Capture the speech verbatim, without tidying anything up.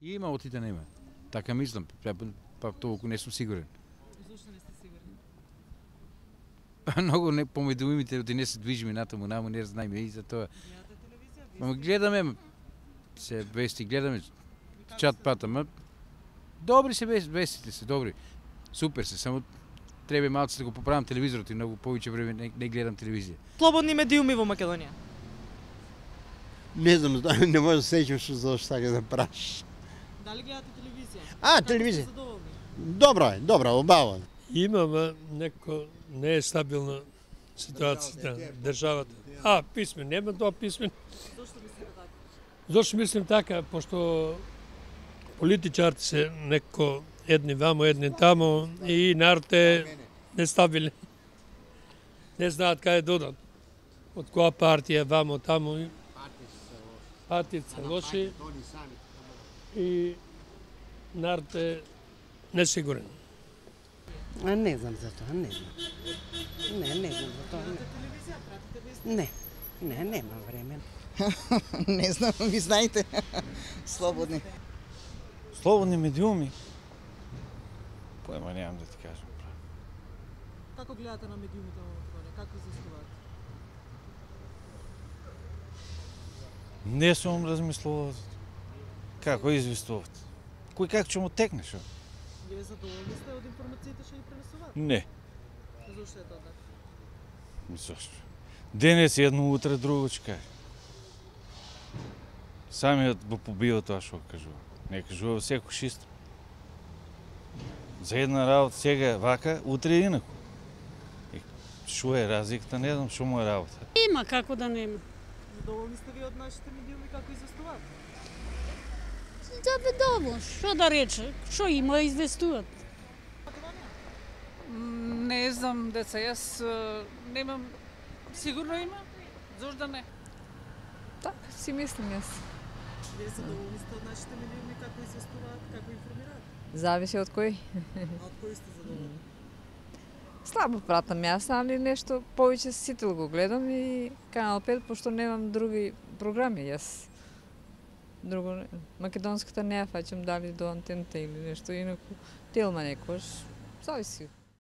Има, отите нема. Така мислам, па толку не сум сигурен. Зошто не сте сигурни? Многу не помеѓу имите оти не се движиме натаму, наму не знаеме и за тоа. Гледате телевизија? Ама гледаме се вести, гледаме чат пат, ама добри се вестите се, добри. Супер се, само треба малку да го поправам телевизорот и многу повеќе време не, не гледам телевизија. Слободни медиуми во Македонија. Не знам, не може да сеќам што зашто така да праш. Дали гледате телевизија? А, Како телевизија. сте задоволни? Добро е, добро, убаво. Имаме неко не е стабилна ситуацијата, државата. А, писмен, нема тоа писмен. Зошто мислите така? Зошто мислим така, пошто политичарите се неко едни вамо, едни тамо и народ е нестабилен. Не знаат каде додат. Од која партија, вамо, тамо. Партиите се лоши и народ е несигурен. А не знам за тоа, не знам. Не, не знам за тоа. Гледате телевизија, пратите вести? Не, не, немам време. Не знам, ви знаете. Слободни. Слободни медиуми? Поема немам да ти кажам. Како гледате на медиумите во Македонија? Како известуваат? Не сум размислувал како известуват. Кој како ќе му текне шо? Вие задоволни сте од информациите што ги пренесуваат? Не. Зошто е тоа така? Зошто? Денес едно, утре друго ќе каже. Самиот го побива тоа што кажува. Не кажува секој исто. За една работа сега вака, утре инаку. Шо е разликата, не знам шо му е работа. Има, како да нема. Задоволни сте ви од нашите медиуми како известуваат? Задоволно, што да рече, што има известуваат. Не знам, деца, јас е, немам, сигурно има, зошто да не? Така си мислам јас. Вие задоволни сте од нашите медиуми како известуваат, како информираат? Зависи од кој. А од кои сте задоволни? Слабо пратам јас, али нешто повеќе сител го гледам и Канал пет, пошто немам други програми јас. Друго, македонската не ја фаќам дали до антената или нешто инаку. Телма некош, зависи.